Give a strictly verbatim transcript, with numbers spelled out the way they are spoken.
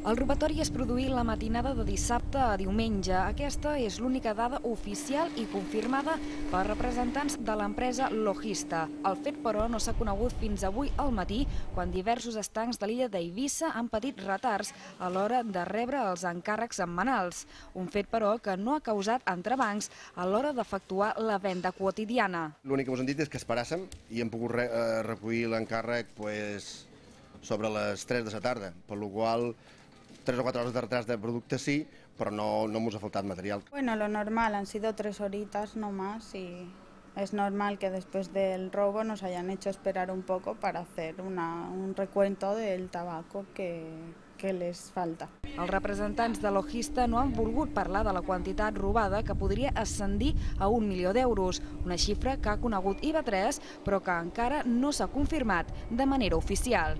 El robatori es produí la matinada de dissabte a diumenge. Aquesta és l'única dada oficial i confirmada per representants de l'empresa Logista. El fet, però, no s'ha conegut fins avui al matí, quan diversos estancs de l'illa d'Eivissa han patit retards a l'hora de rebre els encàrrecs setmanals. Un fet, però, que no ha causat entrebancs a l'hora d'efectuar la venda quotidiana. L'únic que ens han dit és que esperàssim i hem pogut re eh, recollir l'encàrrec pues, sobre les tres de la tarda, per la qual tres o cuatro horas de retraso de producto sí, pero no, no hemos ha faltado material. Bueno, lo normal, han sido tres horitas no más y es normal que después del robo nos hayan hecho esperar un poco para hacer una, un recuento del tabaco que, que les falta. Els representants de Logista no han volgut parlar de la quantitat robada, que podria ascendir a un milió d'euros, una xifra que ha conegut I V A tres però que encara no s'ha confirmat de manera oficial.